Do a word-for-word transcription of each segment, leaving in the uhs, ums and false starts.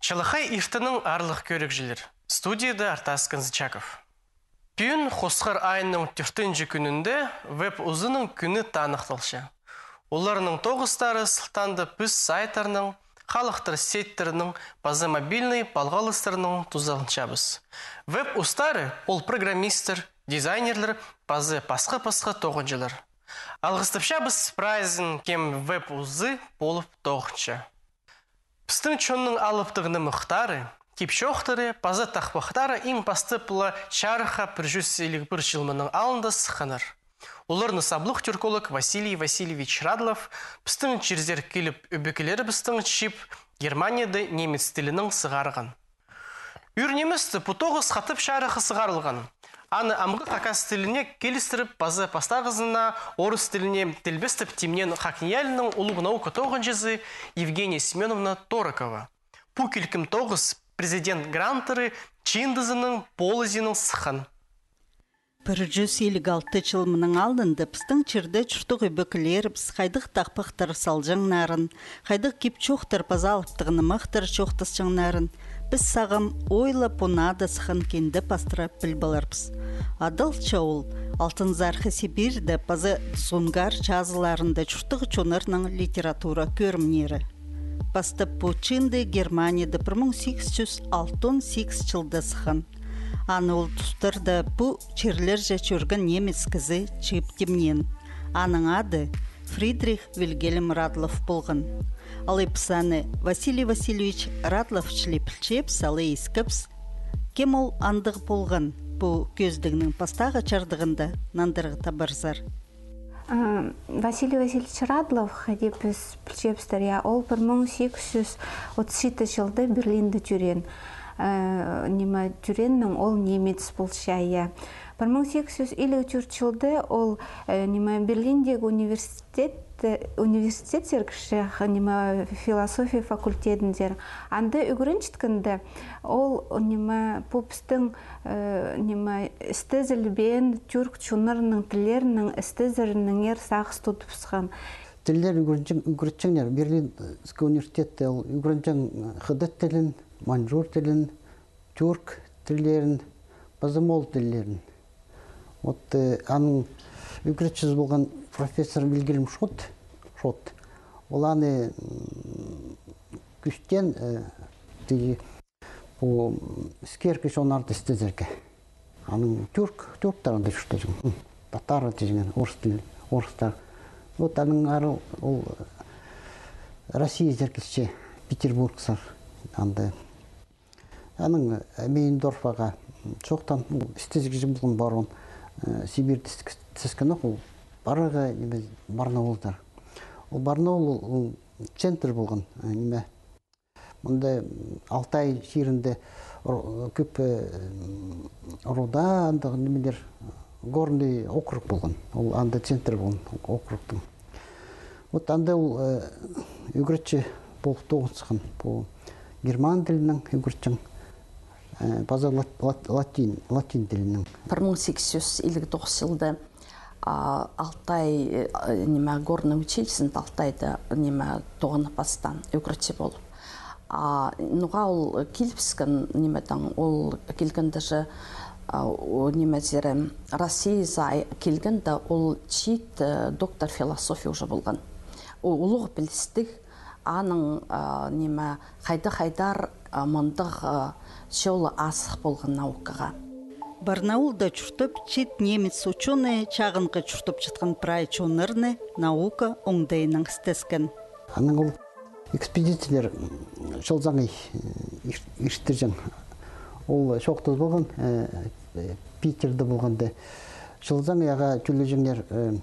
Чалахай иртеннең, аарлығ кӧрігҷілер. Студияда Артас Канзычаков. Пӱӱн хосхар айның тӧртінҷі кӱнінде Веб узының кӱні таныхталча. Оларның тоғыстары сылтаанда піс сайттарның, халыхтар сетьтерінің паза мобильный палғалыстарның тузаланчабыс. Веб устары ол программисттер, дизайнерлер паза пасха-пасха тоғынҷылар. Алғыстапчабыс прайзын, кем веб узы полып тоғынча. Пістің чонның алыптығ нымахтары, кип-чоохтары паза тахпахтары иң пастап ла чарыхха пір чӱс илиг пір чыл мының алнында сыхханнар. Оларны саблығ тюрколог Василий Васильевич Радлов пістің чирзер киліп, ӧбекелерібістің чип, Германияда немец тілінең сығарған. Ӱр ниместе пу тоғыс хатап чарыхха сығарылған. Аны амғы хакас тіліне килістіріп, паза пастағызына орыс тіліне тілбестеп тимнеен ХакНИИЯЛИ-ның улуғ наука тоғынҷызы Евгения Семёновна Торокова. Пу килкім тоғыс президент гранттары чыындызының полызиинаң сыххан. Пір чӱс илиг алты чыл мының алнында пістің чирде чурттығ ӧбекелерібіс хайдағ тахпахтар салҷаңнарын, хайдағ кип-чоохтар паза алыптығ нымахтар чоохтасчаңнарын піс сағам ой ла пу наада сыххан кинде пастыра піліп аларбыс. Адалча ол Алтынзархы Сибирьде паза Тузғунгаар чазыларында чурттығ чоннарның литература кӧрімнері. Пастап пу чыынды Германияда пір муң сигіс чӱс алтон сигіс чылда сыххан. Аны ол тустарда пу чирлерҷе чӧрген немец кізі чыып тимнеен. Аның ады Фридрих Вильгельм Радлов полған. Алай піс аны Василий Васильевич Радлов чіли пілчебіс, алай искебіс. Кем ол, андағ полған, пу кӧзідігнің пастағы чардығында нандырығ табарзар. А, Василий Васильевич Радлов, хайди піс пілчебістер, я, ол пір муң сигіс чӱс отыс читі чылда Берлинде тӧреен. Э, ниме, тӧрееннең ол немец полча, я. Пір муң сигіс чӱс илиг тӧрт чылда ол, э, ниме, Берлиндегі университет, э, университетсер кірче, х-, ниме, философия факультетінзер. Анда ӱгренчеткенде ол, ниме, пу пістің, э, ниме, істезілбеен тюрк чоннарының тіллерінің істезерінеңер сағыс тудыбысхан. Тіллер ӱгренҷең, ӱгретчеңнер. Берлинский университетте ол ӱгренҷең, э, хыдат тілін, маньчжур тілін, тюрк тіллерін, паза моол тіллерін. Вот, э, аның ӱгретчізі полған профессор Вильгельм Шот, Шот. Ол аны, м, кӱстеен, э, тігі, пу, м, іскеркі чоннарды істезерге. Анаң тюрк, тюрктар анда чуртаҷаң. М, татар тіҷең, орыс тіл, орыстар. Вот анаң ары ол, э, Россиязар килче, Петербургсар, анда. Анаң, э, Мейндорф ағаа, м, чоохтаан, ол істезіг кізі полған, барон, э, Сибирьде іс-, істескен ох, ол парығы, ниме, Барнаулдар. Ол Барнаул, ол, ол центр полған, э, ниме. Мында, м, Алтай чирінде ро-, кӧп, э, м, руда, андағ нимелер, горный округ полған. Ол анда центр полған округтың. Вот анда ол, э, ӱгретчі полып тоғынысхан. Пу герман тілінең ӱгретчең, э, паза лат-, лат-, латин, латин тілінең. Пір муң сигіс чӱс илиг тоғыс чылда, а, Алтай, э, ниме, горный училищезінде Алтайда, ниме, тоғынып пастаан ӱгретчі полып. А, ноға ол килібіскен, нимедең, ол килгенде же, а, о, ниме, сірер, Россиязар килгенде ол чиит, э, доктор философии уже полған. Ол улуғ пілістіг, аның, а, ниме, хайда-хайдар, а, мындағ, а, чолы азых полған наукаға. Барнаулда чуртап, чиит немец учёный чағынғы чуртапчатхан прай чоннарны наука оңдайынаң істескен. Анаң ол экспедициялар, м, чыл саңай, э, ир-, иртірҷең. Ол чоохтазы полған, э, э, Питерде полғанда. Чыл саңай ағаа тӧлеҷеңнер, э,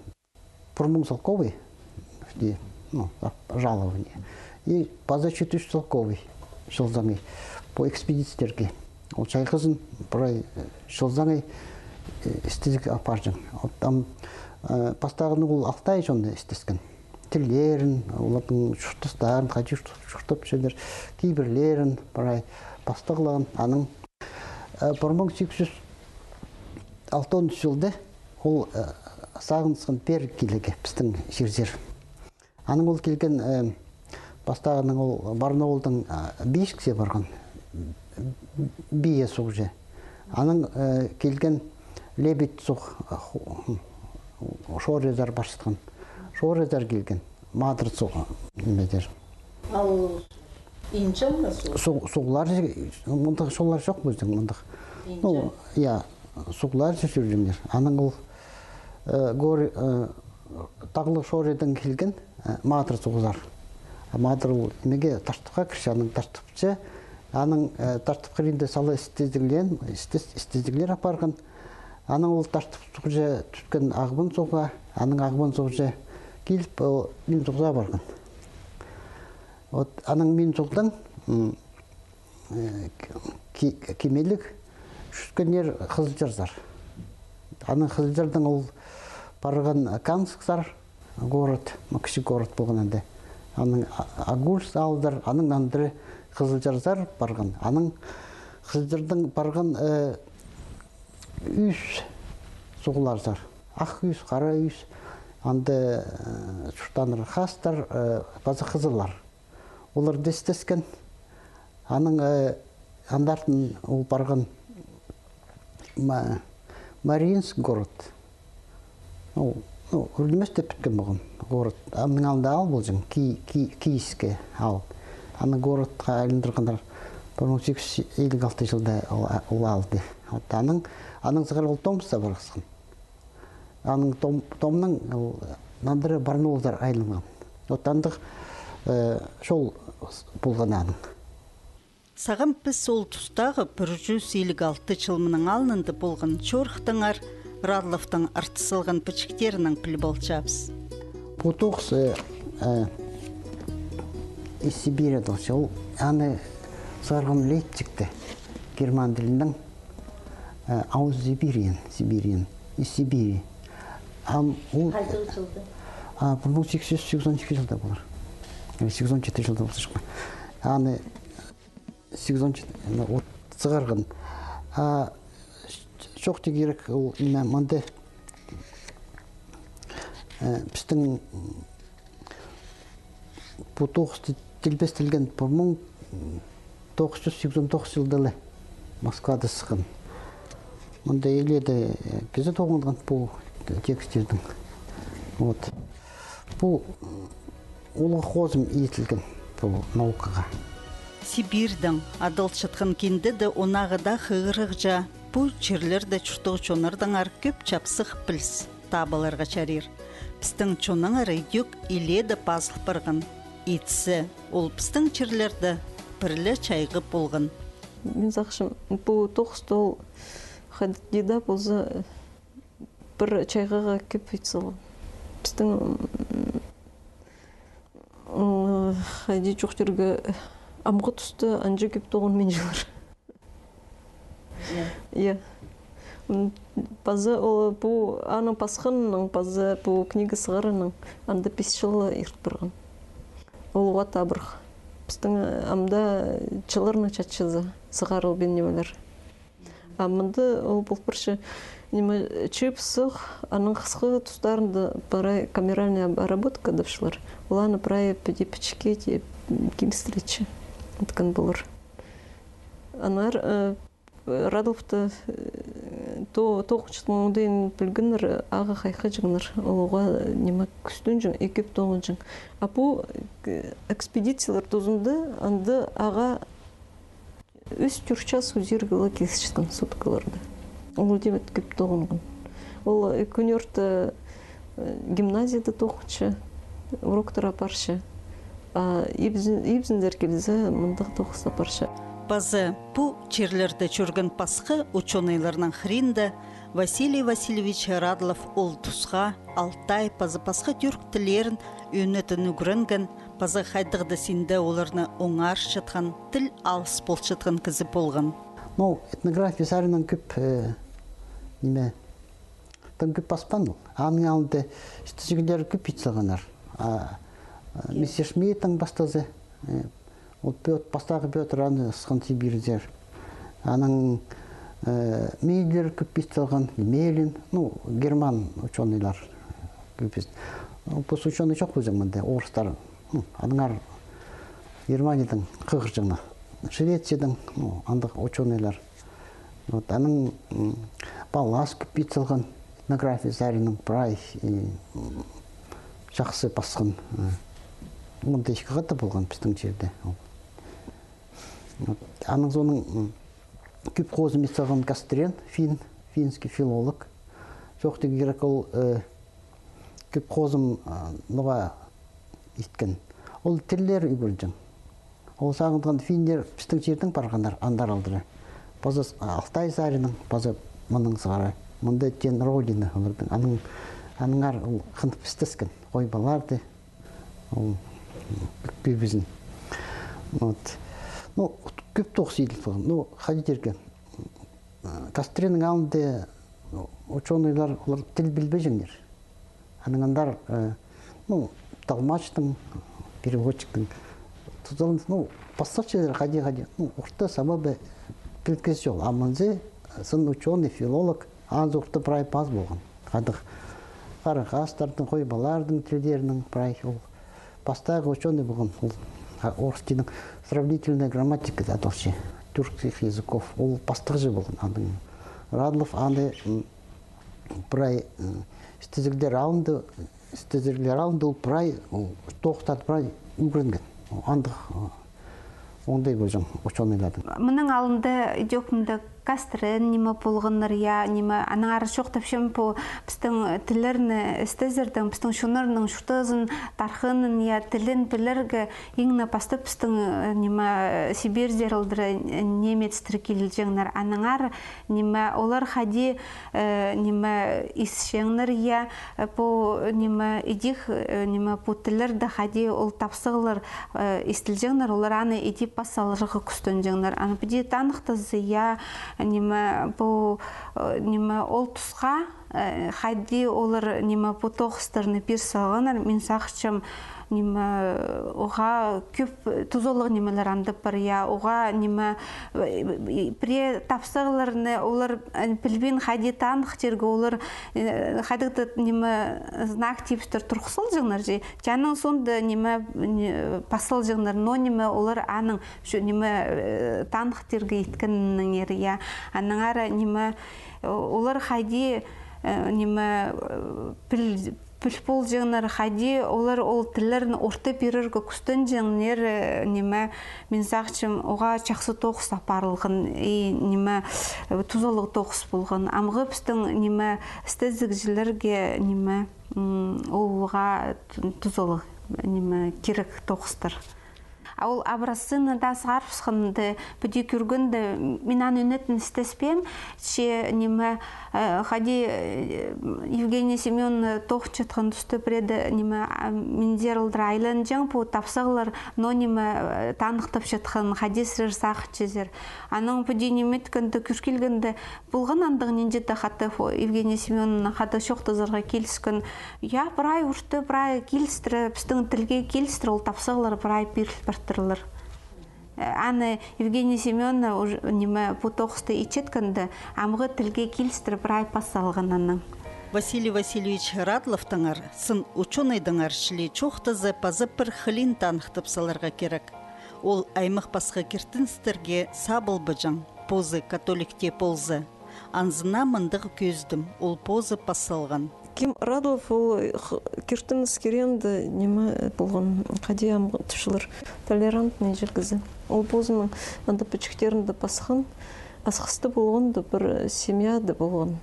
пір муң салковай, ну, жалование. И паза читі чӱс салковай чыл саңай пу экспедицияларға. Ол чайғызын прай, э, чыл саңай, э, істезіг апарҷаң. Вот там, э, пастағыны ол алты ай чонда істескен. Тіллерін, олардың чуртастарын, хайди чурт-, чуртапчалар, кибірлерін прай пастағлаған. Анаң, э, пір муң сигіс чӱс алтон чылда ол, э, сағынысхан пеер килерге пістің чирзер. Анаң ол килген, э, Пастағынаң ол Барнаулдаң, а, Бийскее парған. Бие суғҷы. Анаң, э, килген Лебедь суғ, а, ху-, Шорезар парчатхан. Шорезар килген. Матыр суғ, ниме тир. Ал Инҷіл ме суғ? Суғ-, суғлар, мындағ суғлар чох пістің, мындағ. Ну, я, суғлар чӧрҷеңнер. Анаң ол, э, гор-, э, тағлығ Шоредаң килген, э, Матыр суғзар. А Матыр ол нимеге, Таштыпха кірче, анаң Таштыпча, анаң, э, Таштып хыринда сала істезіглер, істес-, істезіглер апарған. Анаң ол Таштып суғҷа тӱткен Ағбан суғға, анаң Ағбан суғҷа киліп, ол Мин суғзар парған. Вот, анаң Мин суғдаң, м, э, ки-, кимеліг чӧргеннер Хызылчарзар. Анаң Хызылчардаң ол парған Канскзар, город, ну, кічіг город полған анда. Анаң А-, Агульск аалзар, анаң нандыра Хызылчарзар парған. Анаң Хызылчардаң парған, э, ӱс суғларзар. Ах ӱс, хара ӱс, анда, э, чуртааннар хастар, э, паза хызыллар. Олар даа істескен. Анаң, э, андартын ол парған Ма-, Мариинск город. Ну, ну, ӱр нимес тіп піткен полған город. Аның алнында аал полҷаң, Ки-, Ки-, Кийское аал. Аны городха айландырғаннар пір муң сигіс чӱс илиг алты чылда ол а-, ол аалды. Вот анаң, анаң сығара ол Томскха парғысхан. Анаң Том-, Томнаң ол нандыра Барнаулзар айланған. Вот андағ, э, чол с-, полған аның. Сағам піс ол тустағы пір чӱс илиг алты чыл мының алнында полған чорыхтаңар Радловтың артыс салған пічіктерінең піліп алчабыс. Пу тоғыс, э, э, из Сибири тоғыс. Ол аны сығарған Лейпцигте, герман тілінең, э, Aus Sibirien, Sibirien, из Сибири. Ам ол, а, пір муң сигіс чӱс сигізон ікі чылда полар. Или сигізон читі чылда полчатхан. Аны сигізон читі, ну, вот, сығарған. А чох тирге кирек, ол, ниме, мында, э, пістің, м, пу тоғыс ти-, тілбестелген пір муң тоғыс чӱс сигізон тоғыс чылда ла Москвада сыххан. Мында илееде, э, кізі тоғынған пу текстернің. Вот. Пу, м, улуғ хозым иділген пу наукаға. Сибирьдең адалчатхан кинде дее онағыда хығырығҷа, пу чирлерде чуртағҷы чоннардаңар кӧп чапсых піліс таап аларға чарир. Пістің чоннаңар идӧк илееде пазыл парған. Итсе, ол пістің чирлерде пір ле чайғы полған. Мин сағынчам, пу тоғыста ол хайди даа полза, пір чайғыға кӧп ит салған. Пістің, м, м, хайди чоохтирға, амғы туста анҷа кӧп тоғынминчалар. Я. Я. М, паза ол пу аны пасханнаң, паза пу книга сығарғаннаң, анда пис чыл ла ирт парған. Ол уғаа табырах. Пістің, э, амды чылларны чатчаза сығарылбин нимелер. А мында ол пол парча, ниме, чыып сых, аның хысхы тустарында прай камеральная обработка тіпчелер. Ол аны прай піди пічікке тее, м, килістіре чи. Иткен полар. Аннаңар, э, Радловты, э, то-, тоғынчатхан оңдайын пілгеннер, ағаа хайхаҷаңнар, ол уғаа, ниме, кӱстенҷең, и кӧп тоғынҷаң. А пу, э, экспедициялар тузында анда ағаа ӱс-тӧрт час узирға ла килісчеткен суткаларда. Ол тимет кӧп тоғынған. Ол, э, кӱн орта, э, гимназияда тоғынча, уроктар апарча. А ибзін-, ибзіндер килзе, мындағ тоғыс апарча. Паза пу чирлерде чӧрген пасха учёныйларның хыринда Василий Васильевич Радлов ол тусха алтай паза пасха тӱрк тіллерін ӧнетін ӱгренген, паза хайдағ-да синде оларны оңарчатхан, тіл алыс полчатхан кізі полған. Ну, этнография саринаң кӧп, э, ниме, тың кӧп паспаан ол. Аның алнында істезіглер кӧп ит салғаннар. А, а, мистер Шмидттің пастазы, э, ол Пёт-, пастағы Пётр аны сыххан Сибирьзер. Анаң, э, Миллер кӧп ит салған, Гмелин, ну, герман учёныйлар кӧп ит. Ну, пос учёный чох полҷаң мында, орыстар. Ну, аннаңар Германиядаң хығырҷаңнар. Швециядаң, ну, андағ учёныйлар. Вот, аның, м, паллас кӧп ит салған этнография саринаң прай, и, м, чахсы пасхан. Э, мында ікі хати полған пістің чирде. Вот, аның соонаң, м, кӧп хозым ит салған Кастрен, фин, финский филолог. Чоохтирға кирек, ол, э, кӧп хозым, а, ноға иткен. Ол тіллер ӱгренҷең. Ол сағынған финнер пістің чирдең парғаннар, андар алдыра. Паза с-, а, Алтай саринаң, паза мының сығара. Мында тиң родина оларның. Аның, аннаңар ол хынып істескен. Хойбаларды, ол кӧбізін. Вот. Ну, кӧп тоғыс иділ салған. Ну, хайди тирге. Кастреннің алнында учёныйлар, олар тіл пілбеҷеңнер. Анаң андар, э, ну, толмачтың, переводчиктің тузаланыс, ну, пастағҷылар хайди-хайди, ну, орта саба ба пілгізі ол. А мынзы, э, сын учёный, филолог, анзы орта прай пас полған. Хайдағ харахастардың, хойбалардың тілдерінің прай ол. Пастағы учёный полған, ол, а, орыс тілінің сравнительная грамматика даа адалча, тюркских языков, ол пастағҷы полған. Анаң Радлов аны, м, прай, м, істезіглер алнында, істезіглер алнында ол прай, ол тоғыстарды прай ӱгренген. Андағ, а, оңдай полҷаң учёныйларның. Мының алнында идӧк мында Кастрен ниме полғаннар, я, ниме, аннаңар чоохтапчам, пу пістің тіллерні істезердең, пістің чоннарның чуртазын, тархынын, я, тілін пілерге иң не пастап пістің, э, ниме, Сибирьдер алдыра, э, немецтер килҷеңнер. Аннаңар, ниме, олар хайди, э, ниме, исчеңнер, я, э, пу, ниме, идӧк, э, ниме, пу тіллерде хайди ол тапсағлар, э, истілҷеңнер, олар аны иди пас саларға кӱстенҷеңнер. Аны піди таныхтаза, я, ниме, пу, э, ниме, ол тусха, э, хайди олар, ниме, пу тоғыстарны пир салғаннар, мин сағынчам, ниме, оға кӧп тузалығ нимелер андап пар, я, оға, ниме, э, пірее тапсағларны олар, э, пілбин хайди таныхтирға, олар, э, хайдағ-да, ниме, знак типстер турғыс салҷаңнар чи, че аның соонда, ниме, не, пас салҷаңнар, но, ниме, олар аның, чо, ниме, э, таныхтирға иткеннеңер, я, аннаңар, ниме, олар хайди, э, ниме, э, піл-, піл полҷаңнар, хайди олар ол тіллерін орта пирерге кӱстенҷеңнер, э, ниме, мин сағынчам, оға чахсы тоғыс апарылған, и, ниме, э, тузалығ тоғыс полған. Амғы пістің, ниме, істезігҷілерге, ниме, м, оларға ту-, тузалығ, ниме, кирек тоғыстар. А ол образцыны даа сығарыбысханда, піди кӧргенде, мин аны ӱнетін істеспеем, че, ниме, э, хайди, э, Евгения Семёновна тоғынчатхан туста пірееде, ниме, а, миндер алдыра айланҷаң пу тапсағлар, но, ниме, э, таныхтапчатхан, хайди сірер сағынчазар. Анаң піди ниме иткенде, кӧр килгенде, полған андағ нинҷе-де хатап, о, Евгения Семёновна хада чоохтазарға киліскен. Я, прай орта, прай килістіре, пістің тілге килістіре, ол тапсағлар прай пиріл партырлар. Э, аны Евгения Семёновна уж-, ниме, пу тоғысты итчеткенде, амғы тілге килістіре прай пас салған анаң. Василий Васильевич Радловтаңар, сын учёныйдаңар чіли чоохтаза, паза пір хылиин таныхтап саларға кирек. Ол аймах пасха киртіністерге сабылбаҷаң, позы католик тее полза. Анзына мындағ кӧзідім, ол позы пас салған. Ким Радлов, ол х-, киртініс кирегінде ниме полған, хайди ам тіпчелер, толерантный чіли кізі. Ол позының анда пічіктерінде пасхан, Асхыста полғанда пір семьяда полған.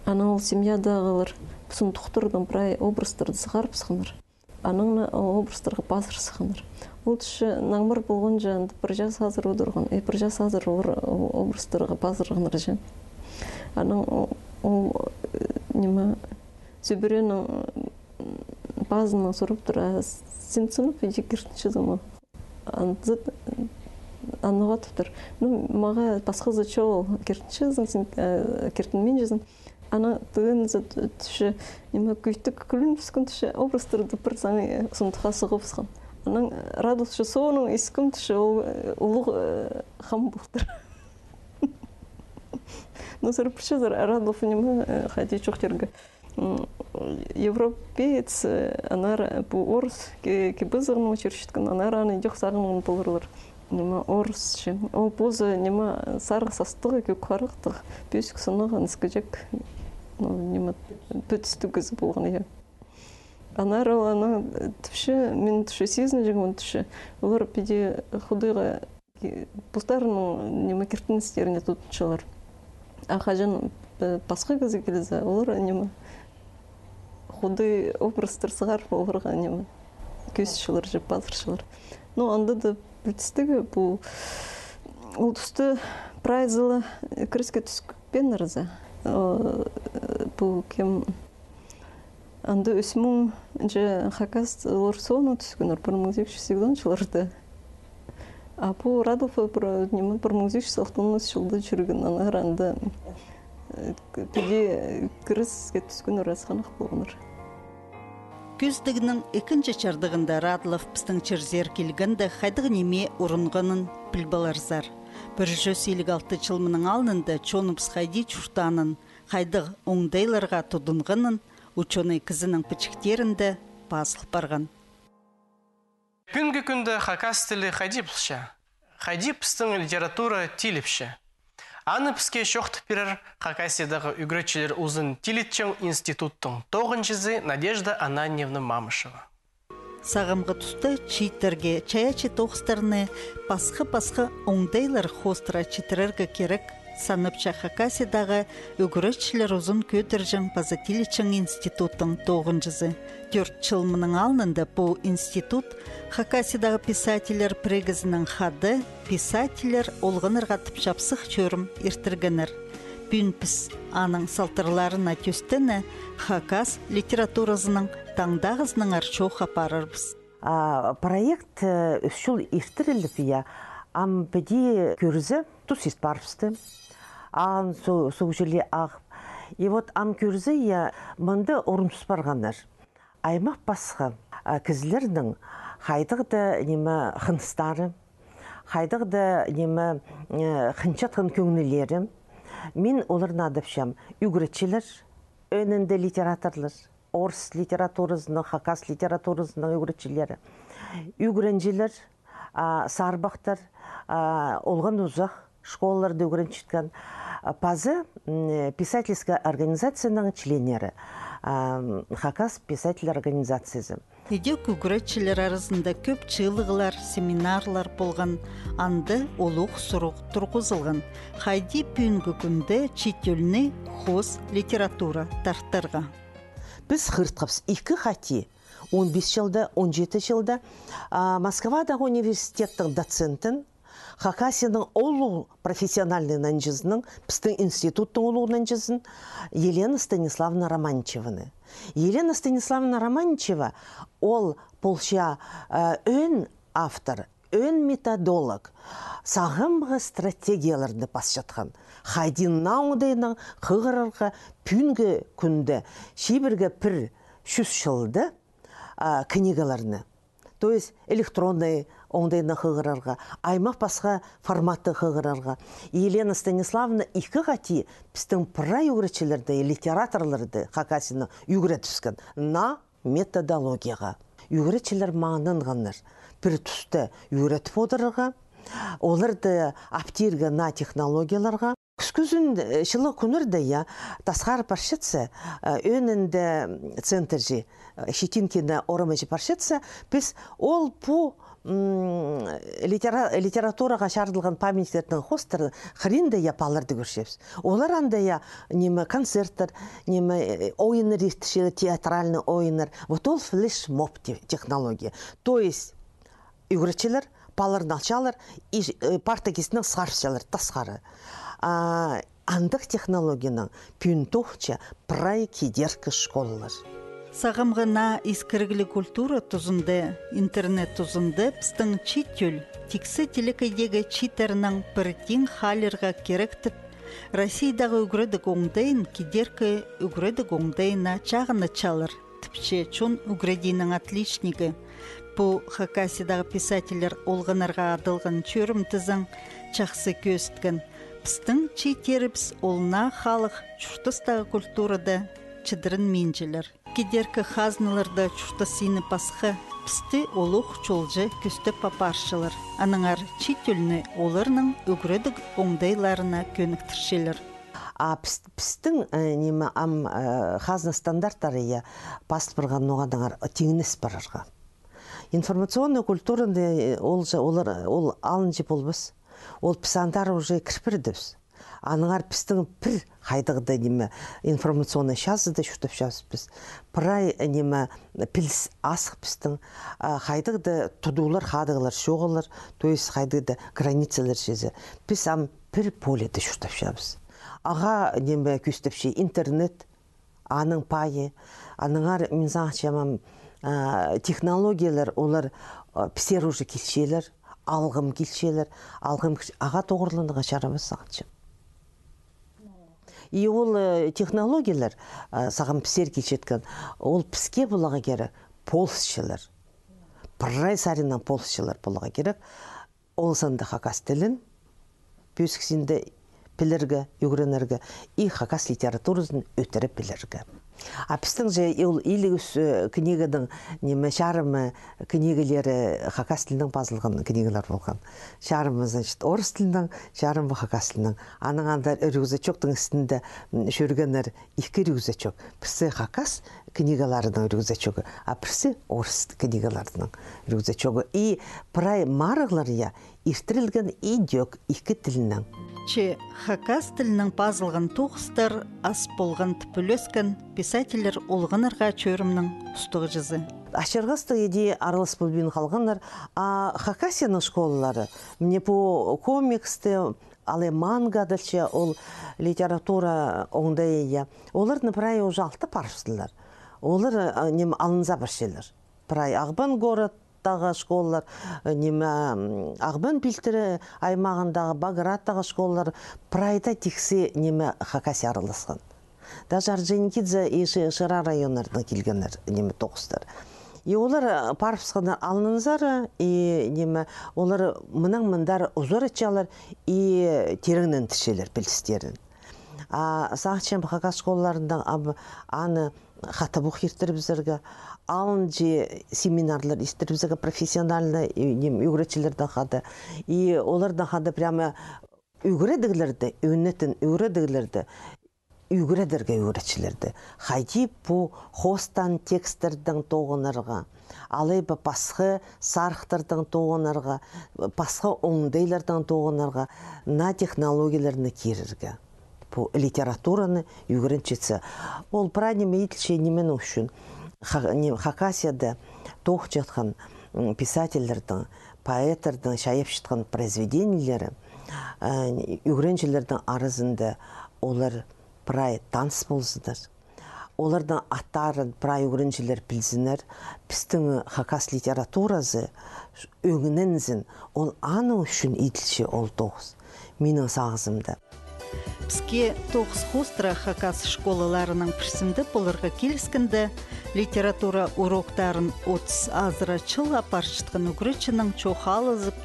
Анаң ол семьядағылар сундуктардаң прай образтарды сығарыбысханнар. Анаң на ол образтарға пазыр сыхханнар. Ол тіпче, наңмыр полғанҷа, анда пір час азыр одырған, и пір час азыр олар ол образтарға пазырғаннар чи. Анаң о-, ол, э, ниме, сӧбіренің, м, пазынаң сурап тур: «А син сынап иди киртінчезің ме?» Анзы, аны уғаа тудыр. Ну, мағаа пасхазы чоғыл, киртінчезің син, э, киртінминчезің. Анаң тыынзы тіпче, ниме, кӧйтік кӱлін піскен тіпче, образтарды пір саңай, э, сундухха сығыбысхан. Анаң, э, Радлов тіпче, соонаң искем тіпче, ол, э, улуғ, э, хам полтыр. Ну, сірер пілчезер, Радлов ниме, э, хайди чоохтирға. М, Европеец, э, анар пу орыс ки-, кип-азығын учурчатхан, анар аны идӧк сағынған поларлар. Ниме, орысча. Ол позы, ниме, сарығ састығ, кӧк харахтығ, пӧзік сынығ, ыныс кічіг. Ну, ниме, пӱдістіг кізі полған, я. Анар ол анаң, э, тіпче, мин тіпче, сизінҷең мин тіпче. Олар піди худайға ки-, постарының, ниме, киртіністеріне тудынчалар. А хаҷан, э, пасха кізі килзе, олар, ниме, худай образтар сығарып, оларға, ниме, кӧзітчелер чи пазырчалар. Ну, анда даа пӱдістіг, пу, ол туста прайзы ла кіреске тӱскеннер за. Э, пу кем, анда ӱс муң чи хакас олар соонаң тӱскеннер, пір муң сигіс чӱс сигізон чылларда. А пу Радлов пір, ниме, пір муң сигіс чӱс алтон ӱс чылда чӧрген, анар анда, э, піди кіреске тӱскеннер асхынах полғаннар. Кӧзідігнің ікінҷі чардығында Радлов пістің чирзер килгенде хайдағ ниме урунғанын піл поларзар. Пір чӱс илиг алты чыл мының алнында чоныбыс хайди чуртаанын, хайдағ оңдайларға тудынғанын учёный кізінің пічіктерінде пазыл парған. Пӱӱнгі кӱнде хакас тілі хайди полча? Хайди пістің литература тиліпче? Аны піске чоохтап пирер Хакасиядағы ӱгретчілер узын тилитчең институттың тоғынҷызы Надежда Ананьевна Мамышева. Сағамғы туста чииттерге чайаачы тоғыстарны пасха-пасха оңдайлар хоостыра читірерге кирек, санапча Хакасиядағы ӱгретчілер узын кӧдірҷең паза тилитчең институттың тоғынҷызы. Тӧрт чыл мының алнында пу институт Хакасиядағы писательлер пірігізінің хада «Писательлер олғаннарға» тіп чапсых чӧрім иртіргеннер. Пӱӱн піс аның салтарларына тӧстене хакас литературазының таңдағызынаңар чоох апарарбыс. А, проект, э, ӱс чыл иртіріліп, я, ам піди кӧрзе, тус ит парыбысты. Аан су-, суғ чіли ағып. И вот ам кӧрзе, я, мында орын тус парғаннар. Аймах пасха, а, кізілернің хайдағ даа, ниме, хыныстары, хайдағ даа, ниме, э, хынчатхан кӧңнілері. Мин оларны адапчам: ӱгретчілер, ӧӧнінде литераторлар, орыс литературазының, хакас литературазының ӱгретчілері, ӱгренҷілер, а, сарбахтар, а, олған узах школаларда ӱгренчеткен, а, паза, м, писательская организацияның членнері, а, м, Хакас писатель организациязы. Идӧк ӱгретчілер аразында кӧп чыылығлар, семинарлар полған, анда улуғ сурығ турғызылған: хайди пӱӱнгі кӱнде чиит тӧлні хоос литература тартарға. Піс хығыртхабыс ікі хати, он пис чылда, он читі чылда, а, Москвадағы университеттің доцентін, Хакасияның улуғ профессиональный нанҷызының, пістің институттың улуғ нанҷызын, Елена Станиславовна Романчеваны. Елена Станиславовна Романчева, ол полча, а, ӧӧн автор, ӧӧн методолог, сағамғы стратегияларны пасчатхан. Хайди наа оңдайнаң хығырарға пӱӱнгі кӱнде чибіргі пір чӱс чылда, а, книгаларны. То есть электронный оңдайнаң хығырарға, аймах пасха форматта хығырарға. Елена Станиславовна ікі хати пістің прай ӱгретчілерді, литераторларды Хакасияны ӱгретібіскен наа методологияға. Ӱгретчілер маңнанғаннар пір туста ӱгретіп одырарға, оларды аптирға наа технологияларға. Кӱскӱзін, э, чылығ кӱннерде, я, тасхар парчатса, э, ӧӧнінде центрҷе, э, Щетинкина орамҷе парчатса, піс ол пу, м, литера-, литератураға чарыдылған памятниктернің хоостарын хыринда, я, паларды кӧрчебіс. Олар анда, я, ниме, концерттер, ниме, э, ойыннар иртірчелер, театральный ойыннар. Вот ол флешмоб те-, технология. То есть ӱгретчілер паларны алчалар, и, э, парта кистінең сығарчалар тасхары. А, андағ технологиянаң пӱӱн тоғынча прай кидеркі школалар. Сағамғы наа искірігліг культура тузында, интернет тузында пістің чиит тӧл тиксі телекейдегі чииттернең пір тиң хаалирға кирек тіп, Россиядағы ӱгредіг оңдайын кидеркі ӱгредіг оңдайына чағынчалар, тіпче чон ӱгредиинің отличнигі. Пу Хакасиядағы писательлер олғаннарға адалған чӧрім тізең чахсы кӧзіткен. Пістің чииттерібіс ол наа халых чуртастағы культурада чідірінминчелер. Кидеркі хазналарда чуртас сині пасха, пісті олох чолҷа кӧстеп апарчалар. Аннаңар чиит тӧлні оларның ӱгредіг оңдайларына кӧніктірчелер. А піс-, пістің, э, ниме, ам, э, хазна стандарттары, я, пазыл парған ноға-даңар тиңнес парарға. Информационная культураны, э, ол же, олар, ол алынҷа полбас. Ол піс андар уже кір пирдібіс. Аннаңар пістің пір хайдағ-да ниме, информационный чазыда чуртапчабыс піс. Прай, э, ниме, піліс азых пістің, а, хайдағ-да тудуулар, хадағлар чоғыллар, то есть хайдағ-да границалар чізе. Піс ам пір поледе чуртапчабыс. Ағаа ниме кӧстепче интернет, аның пайы, аннаңар мин сағынчам, а, технологиялар, олар, а, пісер уже килчелер, алғым килчелер, алғым килч-, ағаа тоғырланарға чарабас сағынчам. И ол, э, технологиялар, а, сағам пісер килчеткен, ол піске поларға кирек полысчылар. Прай саринаң полысчылар поларға кирек. Ол санда хакас тілін пӧзік синде пілерге, ӱгренерге и хакас литературазын ӧтіре пілерге. А пістің же ол илиг ӱс, э, книгадаң, ниме, чарымы книгалары хакас тілінең пазылған книгалар полған. Чарымы, значит, орыс тілінең, чарымы хакас тілінең. Аның анда рюкзачоктың істінде, м, чӧргеннер ікі рюкзачок. Пірсі хакас книгаларының рюкзачогы, а пірсі орыс книгаларының рюкзачогы. И прай марығлар, я, иртірілген идӧк ікі тілінең. Че хакас тілінең пазылған тоғыстар ас полған тіп ӱлескен писательлер олғаннарға чӧрімнің устағҷызы. Ачырғастығ иди аралас полбин халғаннар, а Хакасияның школалары, міне, пу комиксті, алай манга адалча, ол литература оңдайы, я. Оларны прай уже алты парыбыстылар. Олар, а, ниме, алынза парчалар. Прай Ағбан городтағы школалар, э, ниме, м, Ағбан пилтірі аймағындағы, Баграттағы школалар, прайда тиксі, ниме, Хакасия араласхан. Даже Орджоникидзе и Ши-, Шира районнардаң килгеннер, ниме, тоғыстар. И олар, э, парыбысханнар алнынзар, и, ниме, олар мынаң мындар узаратчалар и тирееннестірчелер пілістерін. А сағынчам, хакас школаларында ам аны хатабох иртірібізерге, алынҷа семинарлар иртірібізерге профессиональный, и, ниме, ӱгретчілердең хада. И олардаң хада прямо ӱгредіглерді, ӧнетін ӱгредіглерді ӱгредерге ӱгретчілерді. Хайди пу хоостаан тексттердең тоғынарға, алай ба пасха сарыхтардаң тоғынарға, пасха оңдайлардаң тоғынарға, наа технологияларны кирерге. Пу литератураны ӱгренчетсе. Ол прай ниме иділче, нименің ӱчӱн. Ха-, ни-, Хакасияда тоғынчатхан, м, писательлердің, поэттердің чайапчатхан произведениелері, э, ӱгренҷілердің аразында олар прай таныс ползыннар. Оларның аттарын прай ӱгренҷілер пілзіннер. Пістің хакас литературазы ӧңнензін, ол аның ӱчӱн иділче ол тоғыс. Минің сағызымда. Піске тоғыс хоостыра хакас школаларының пірсінде поларға киліскенде, литература уроктарын отыс азыра чыл апарчатхан ӱгретчінің чоохтазып,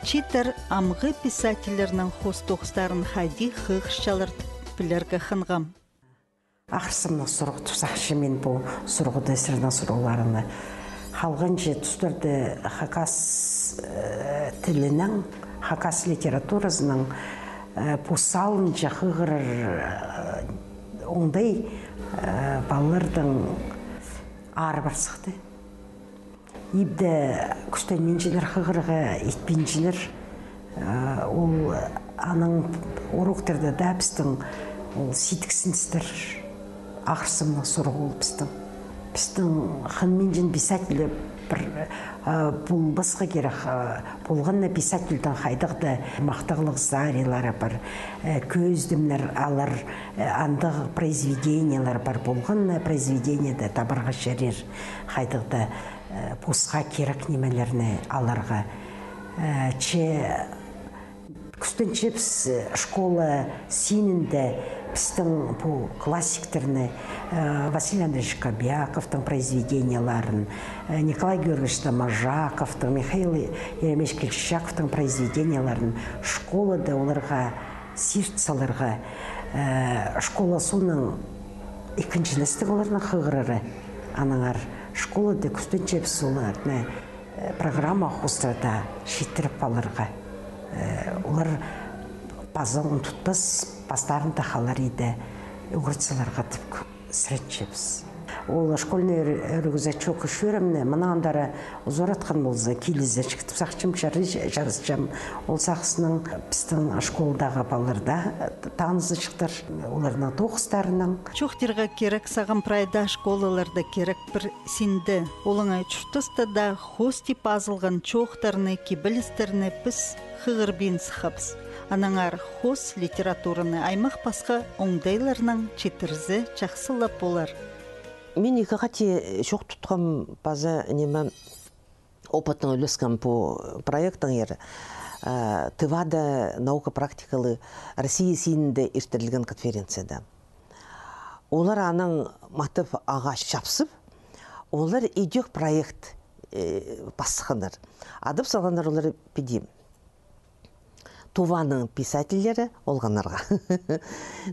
чииттер амғы писательлернің хоос тоғыстарын хайди хығырчалар тіп пілерге хынғам. Ахырсымнығ сурығ тіп сағынчам мин пу сурығны, сірернің сурығларыңны. Халғанҷы тустарда хакас, э, тілінең, хакас литературазынаң, э, пу салынҷа хығырар, э, оңдай, э, палаларның ары пар сыхты. Ибде кӱстенминчелер хығырарға, итпинчелер. Э, ол аның уроктарда даа пістің ол сидіксіністер, ахырсымнығ сурығ ол пістің. Пістің хынминчен писатель пір, э, полбасха кирек, э, полған на писательдің хайдағ-да махтағлығ сценарийлері пар, э, кӧзідімнер алар, э, андағ произведениелер пар, полған на произведениеде табарға чарир хайдағ-да, э, пасха кирек нимелерні аларға. Э, че кӱстенчебіс, э, школа синінде пістің пу классиктерні, э, Василий Андреевич Кобяковтың произведениелерін, э, Николай Георгиевич Доможаковтың, Михаил Еремеевич Кильчичаковтың произведениелерін школада оларға сирт саларға, э, школа соонаң ікінҷілестіг оларның хығырары. Аннаңар школада кӱстенчебіс оларны, э, программа хоостыра даа читіріп аларға. Э, олар паза ундутпас, пастарында халар иді ӱгретселер тіп сіренчебіс. Ол школьный рю-, рюкзачок чӧрімні, мынаң андар узаратхан полза, килізерҷік тіп сағынчам, чарыйҷа-, чарысчам. Ол сағыснаң пістің школдағы палалар даа танызарҷыхтар, оларның тоғыстарынаң. Чоохтирға кирек, сағам прайда школаларда кирек пір синде. Олаңай чуртаста даа хоос тіп пазылған чоохтарны, кибелістерні піс хығырбин сыххабыс. Аннаңар хоос литератураны аймах пасха оңдайларнаң читірзе, чахсы ла полар. Мин ікі хати чоох тутхам паза, ниме, опытнаң ӱлескем пу проекттеңер, э, Тывада наука практикалығ Россия синінде иртірілген конференцияда. Олар анаң матап ағаа чапсып, олар идӧк проект, э, пас сыхханнар. Адап салғаннар олар піди: Туваның писательлері олғаннарға.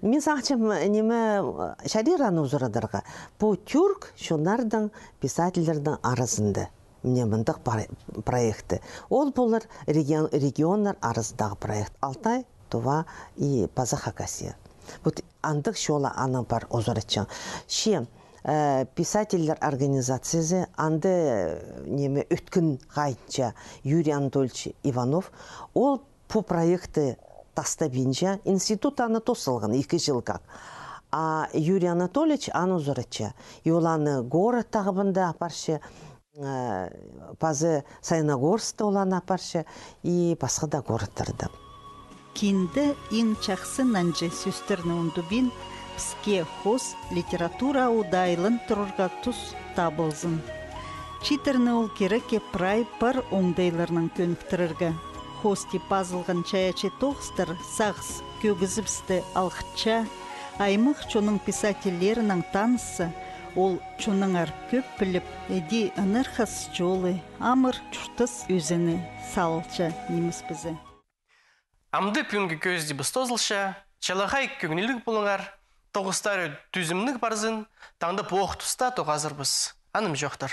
Мин сағынчам, ниме, чарир аны узарадарға. Пу тӱрк чоннарның писательлернің аразында. Мына мындағ пар-, проекті. Ол полар регион-, регионнар аразындағы проект. Алтай, Тува и паза Хакасия. Вот андағ чолла анаң пар узаратчаң. Че, э, писательлер организациязы, анда, э, ниме, ӧткін хайынча Юрий Анатольевич Иванов, ол пу проектті тастабинча, институт аны тоос салған, ікі чыл как. А Юрий Анатольевич аны узаратча. И ол аны город тағбанда апарча, э, паза Саяногорскта ол аны апарча, и пасха даа городтарда. Кинде иң чахсы нанҷы сӧстерні ундубин, піске хоос литература удаа айлан турарға тус табылзын. Читірні ол кирекке прай пар оңдайларнаң кӧніктірерге. Хоос тіп пазылған чайаачы тоғыстар сағыс кӧгізібісті алғытча, аймах чонның писательлерінең танысса, ол чоннаңар кӧп піліп, іди ынархас чолы, амыр чуртас ӧзені салча нимес пізе. Амды пӱӱнгі кӧзідібіс тоозылча, чалахай кӧңніліг полыңар, тоғыстары тӱзімніг парзын, таңда пу ох туста тоғазарбыс. Анымҷохтар.